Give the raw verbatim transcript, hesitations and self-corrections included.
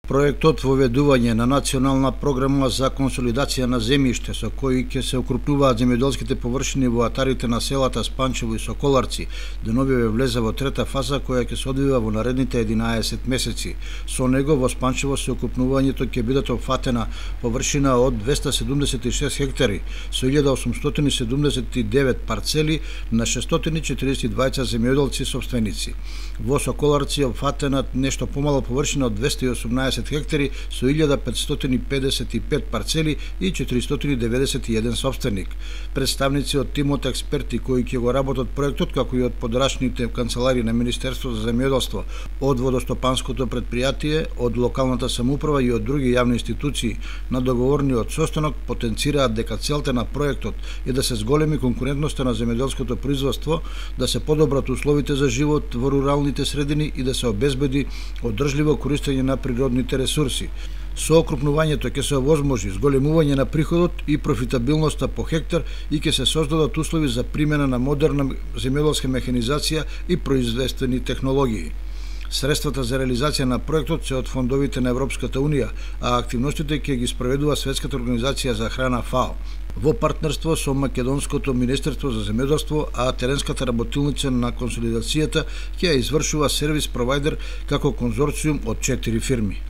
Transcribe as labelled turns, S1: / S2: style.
S1: Проектот воведување на национална програма за консолидација на земјиште со кој ќе се окрупнуваат земјоделските површини во атарите на селата Спанчево и Соколарци, деновиве влезе во трета фаза која ќе се одвива во наредните единаесет месеци. Со него во Спанчево се окрупнувањето ќе бидат опфатена површина од двеста седумдесет и шест хектари со илјада осумстотини седумдесет и девет парцели на шестстотини четиридесет и двајца земјоделци сопственици. Во Соколарци е опфатена нешто помала површина од двеста и осумнаесет хектари со илјада петстотини педесет и пет парцели и четиристотини деветдесет и еден сопственик. Представници од тимот експерти кои ќе го работат проектот, како и од подрачните канцелари на Министерството за земјоделство, од водостопанското претпријатие, од локалната самоуправа и од други јавни институции, на договорниот состанок потенцираат дека целта на проектот е да се зголеми конкурентноста на земјоделското производство, да се подобрат условите за живот во руралните средини и да се обезбеди одржливо користење на природните ресурси. Со окрупнувањето ќе се овозможи зголемување на приходот и профитабилноста по хектар и ќе се создадат услови за примена на модерна земјоделска механизација и производствени технологии. Средствата за реализација на проектот се од фондовите на Европската Унија, а активностите ќе ги спроведува Светската организација за храна ФАО во партнерство со Македонското Министерство за земјоделство, а теренската работилница на консолидацијата ќе ја извршува сервис провајдер како конзорциум од четири фирми.